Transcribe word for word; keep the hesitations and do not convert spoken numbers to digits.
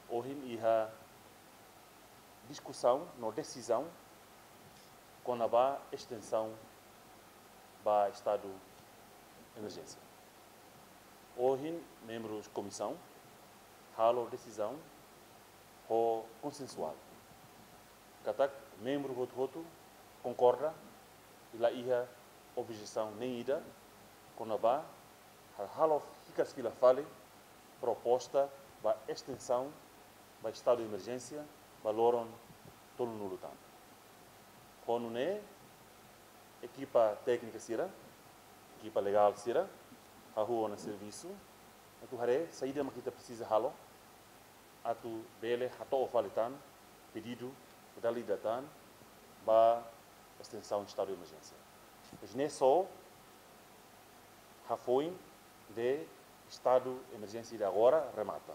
Ohin iha diskusaun no desizaun kona-ba estensaun ba estadu emerjénsia. Ohin membrus komisaun halo desizaun ho konsensuál. Katak membru hotu-hotu konkorda i la iha objesaun nein ida kona-ba halo hikas fila fali proposta ba estensaun ba estadu emerjénsia ba loron tolunulu tan. Ho nune'e ekipa téknika sira, ekipa legál sira hahú ona servisu atu haree saida mak ita presiza halo atu bele hato'o fali tan pedidu dala ida tan ba estensaun estadu emerjénsia. Mas ne'e só hafoin de estadu emerjénsia de agora remata.